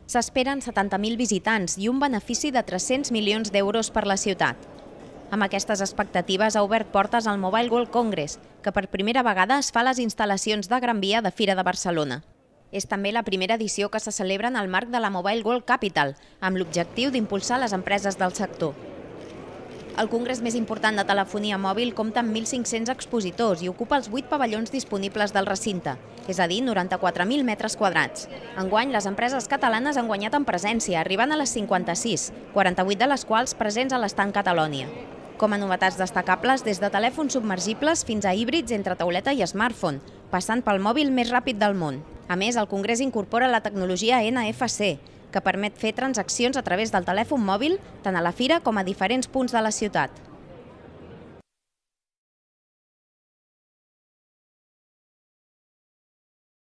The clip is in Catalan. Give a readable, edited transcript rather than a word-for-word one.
S'esperen 70.000 visitants i un benefici de 300 milions d'euros per la ciutat. Amb aquestes expectatives ha obert portes al Mobile World Congress, que per primera vegada es fa a les instal·lacions de Gran Via de Fira de Barcelona. És també la primera edició que se celebra en el marc de la Mobile World Capital, amb l'objectiu d'impulsar les empreses del sector. El congrés més important de telefonia mòbil compta amb 1.500 expositors i ocupa els 8 pavellons disponibles del recinte, és a dir, 94.000 metres quadrats. Enguany, les empreses catalanes han guanyat en presència, arribant a les 56, 48 de les quals presents a l'estand Catalònia. Com a novetats destacables, des de telèfons submergibles fins a híbrids entre tauleta i smartphone, passant pel mòbil més ràpid del món. A més, el congrés incorpora la tecnologia NFC, que permet fer transaccions a través del telèfon mòbil tant a la fira com a diferents punts de la ciutat.